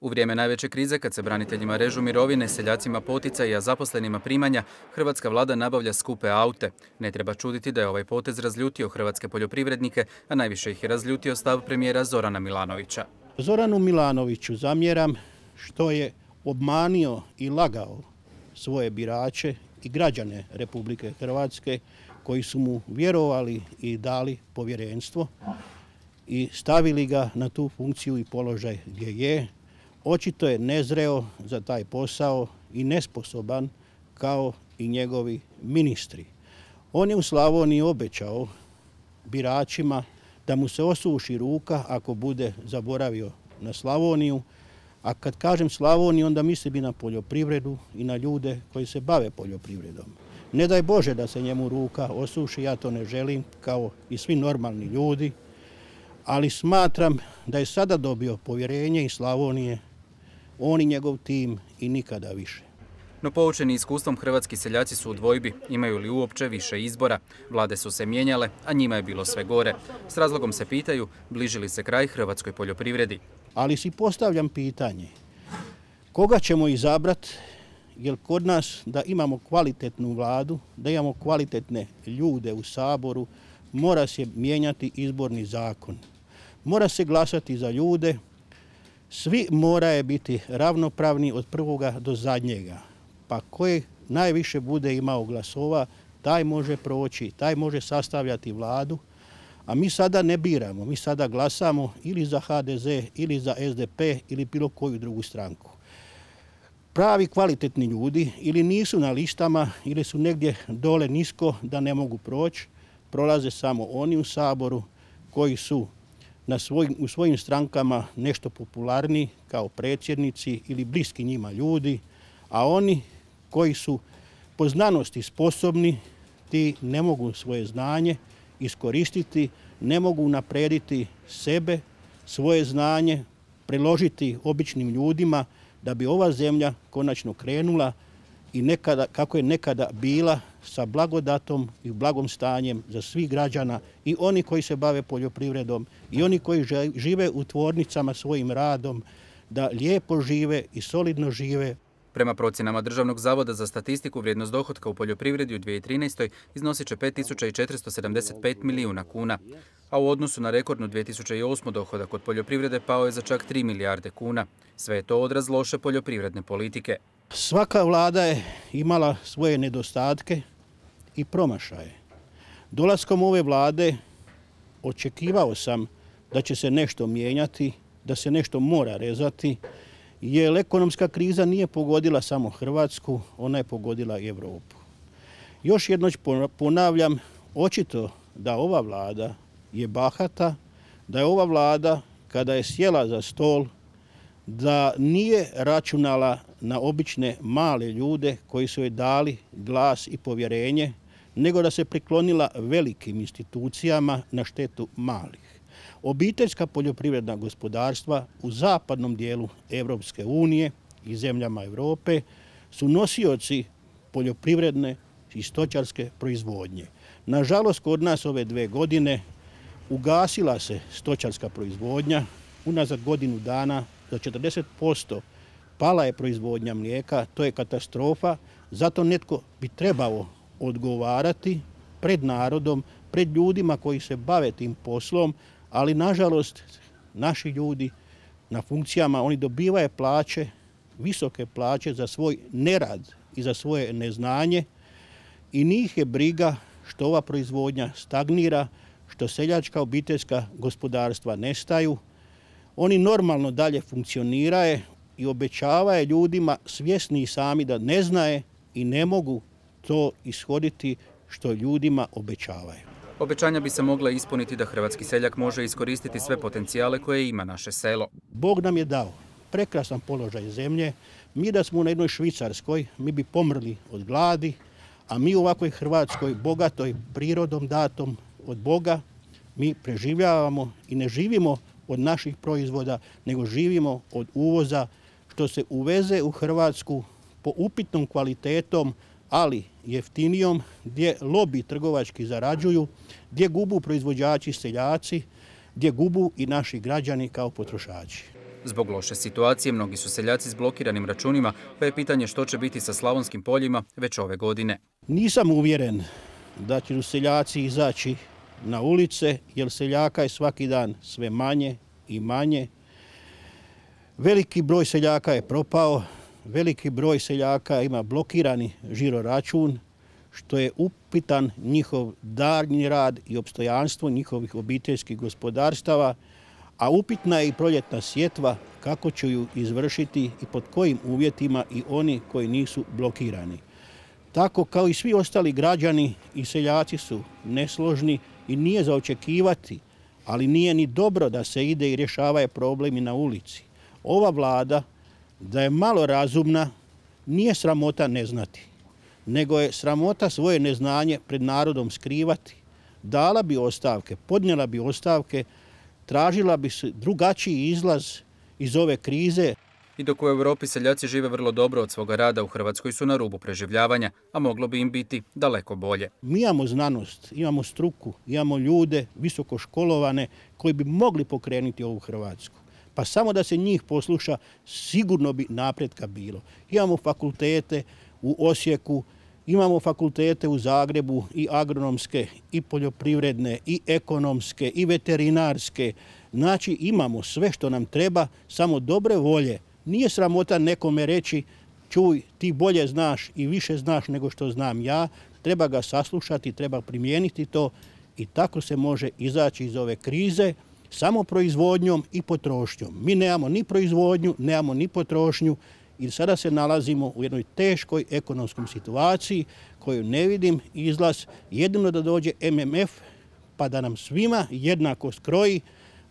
U vrijeme najveće krize, kad se braniteljima režu mirovine, seljacima poticaji, a zaposlenima primanja, hrvatska vlada nabavlja skupe aute. Ne treba čuditi da je ovaj potez razljutio hrvatske poljoprivrednike, a najviše ih je razljutio stav premijera Zorana Milanovića. Zoranu Milanoviću zamjeram što je obmanio i lagao svoje birače i građane Republike Hrvatske koji su mu vjerovali i dali povjerenstvo i stavili ga na tu funkciju i položaj gdje je. Očito je nezreo za taj posao i nesposoban kao i njegovi ministri. On je u Slavoniji obećao biračima da mu se osuši ruka ako bude zaboravio na Slavoniju. A kad kažem Slavoniju, onda mislim i na poljoprivredu i na ljude koji se bave poljoprivredom. Ne daj Bože da se njemu ruka osuši, ja to ne želim, kao i svi normalni ljudi, ali smatram da je sada dobio povjerenje iz Slavonije, on i njegov tim i nikada više. No poučeni iskustvom, hrvatski seljaci su u dvojbi. Imaju li uopće više izbora? Vlade su se mijenjale, a njima je bilo sve gore. S razlogom se pitaju, bliži li se kraj hrvatskoj poljoprivredi. Ali si postavljam pitanje, koga ćemo izabrati, jer kod nas da imamo kvalitetnu vladu, da imamo kvalitetne ljude u Saboru, mora se mijenjati izborni zakon. Mora se glasati za ljude, svi moraju biti ravnopravni od prvoga do zadnjega. Pa koji najviše bude imao glasova, taj može proći, taj može sastavljati vladu, a mi sada ne biramo, mi sada glasamo ili za HDZ, ili za SDP, ili bilo koju drugu stranku. Pravi kvalitetni ljudi ili nisu na listama, ili su negdje dole nisko da ne mogu proći, prolaze samo oni u Saboru koji su u svojim strankama nešto popularniji kao predsjednici ili bliski njima ljudi, a oni koji su po znanosti sposobni, ti ne mogu svoje znanje iskoristiti, ne mogu naprediti sebe, svoje znanje, preložiti običnim ljudima da bi ova zemlja konačno krenula i nekada, kako je nekada bila, sa blagodatom i blagom stanjem za svih građana, i oni koji se bave poljoprivredom i oni koji žive u tvornicama svojim radom, da lijepo žive i solidno žive. Prema procjenama Državnog zavoda za statistiku, vrijednost dohotka u poljoprivredi u 2013. iznosit će 5.475 milijuna kuna, a u odnosu na rekordnu 2008. dohodak od poljoprivrede pao je za čak 3 milijarde kuna. Sve je to odraz loše poljoprivredne politike. Svaka vlada je imala svoje nedostatke i promašaje. Dolaskom ove vlade očekivao sam da će se nešto mijenjati, da se nešto mora rezati, jer ekonomska kriza nije pogodila samo Hrvatsku, ona je pogodila i Europu. Još jednom ponavljam, očito da ova vlada je bahata, da je ova vlada kada je sjela za stol, da nije računala na obične male ljude koji su joj dali glas i povjerenje, nego da se priklonila velikim institucijama na štetu malih. Obiteljska poljoprivredna gospodarstva u zapadnom dijelu Europske unije i zemljama Europe su nosioci poljoprivredne i stočarske proizvodnje. Nažalost, kod nas ove 2 godine ugasila se stočarska proizvodnja, unazad godinu dana za 40% pala je proizvodnja mlijeka, to je katastrofa, zato netko bi trebao odgovarati pred narodom, pred ljudima koji se bave tim poslom, ali nažalost naši ljudi na funkcijama, oni dobivaju plaće, visoke plaće za svoj nerad i za svoje neznanje, i njih je briga što ova proizvodnja stagnira, što seljačka obiteljska gospodarstva nestaju. Oni normalno dalje funkcioniraju i obećavaju ljudima, svjesni sami da ne znaje i ne mogu to ishoditi što ljudima obećavaju. Obećanja bi se mogla ispuniti da hrvatski seljak može iskoristiti sve potencijale koje ima naše selo. Bog nam je dao prekrasan položaj zemlje. Mi da smo na jednoj Švicarskoj, mi bi pomrli od gladi, a mi u ovakvoj Hrvatskoj, bogatoj prirodom datom od Boga, mi preživljavamo i ne živimo od naših proizvoda, nego živimo od uvoza, što se uveze u Hrvatsku po upitnom kvalitetom, ali jeftinijom, gdje lobi trgovački zarađuju, gdje gubu proizvođači seljaci, gdje gubu i naši građani kao potrošači. Zbog loše situacije mnogi su seljaci s blokiranim računima, pa je pitanje što će biti sa slavonskim poljima već ove godine. Nisam uvjeren da će seljaci izaći na ulice, jer seljaka je svaki dan sve manje i manje. Veliki broj seljaka je propao, veliki broj seljaka ima blokirani žiroračun, što je upitan njihov daljnji rad i opstojanstvo njihovih obiteljskih gospodarstava, a upitna je i proljetna sjetva, kako će ju izvršiti i pod kojim uvjetima i oni koji nisu blokirani. Tako kao i svi ostali građani i seljaci su nesložni i nije za očekivati, ali nije ni dobro da se ide i rješavaju problemi na ulici. Ova vlada, da je malo razumna, nije sramota ne znati, nego je sramota svoje neznanje pred narodom skrivati. Dala bi ostavke, podnijela bi ostavke, tražila bi se drugačiji izlaz iz ove krize. I dok u Europi seljaci žive vrlo dobro od svoga rada, u Hrvatskoj su na rubu preživljavanja, a moglo bi im biti daleko bolje. Mi imamo znanost, imamo struku, imamo ljude visoko školovane koji bi mogli pokrenuti ovu Hrvatsku. Pa samo da se njih posluša, sigurno bi napretka bilo. Imamo fakultete u Osijeku, imamo fakultete u Zagrebu i agronomske, i poljoprivredne, i ekonomske, i veterinarske. Znači imamo sve što nam treba, samo dobre volje. Nije sramota nekome reći, čuj, ti bolje znaš i više znaš nego što znam ja, treba ga saslušati, treba primijeniti to i tako se može izaći iz ove krize samo proizvodnjom i potrošnjom. Mi nemamo ni proizvodnju, nemamo ni potrošnju i sada se nalazimo u jednoj teškoj ekonomskoj situaciji koju ne vidim izlaz, jedino da dođe MMF pa da nam svima jednako skroji,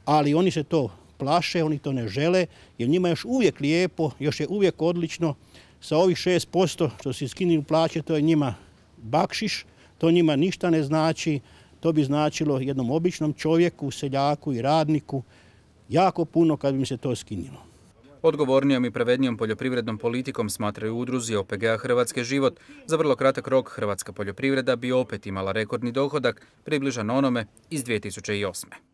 ali oni se to plaše, oni to ne žele, jer njima je još uvijek lijepo, još je uvijek odlično. Sa ovih 6% što se skinuli plaće, to je njima bakšiš, to njima ništa ne znači. To bi značilo jednom običnom čovjeku, seljaku i radniku jako puno kad bi im se to skinilo. Odgovornijom i pravednijom poljoprivrednom politikom, smatraju udruzi OPG-a Hrvatske život, za vrlo kratak rok hrvatska poljoprivreda bi opet imala rekordni dohodak približan onome iz 2008.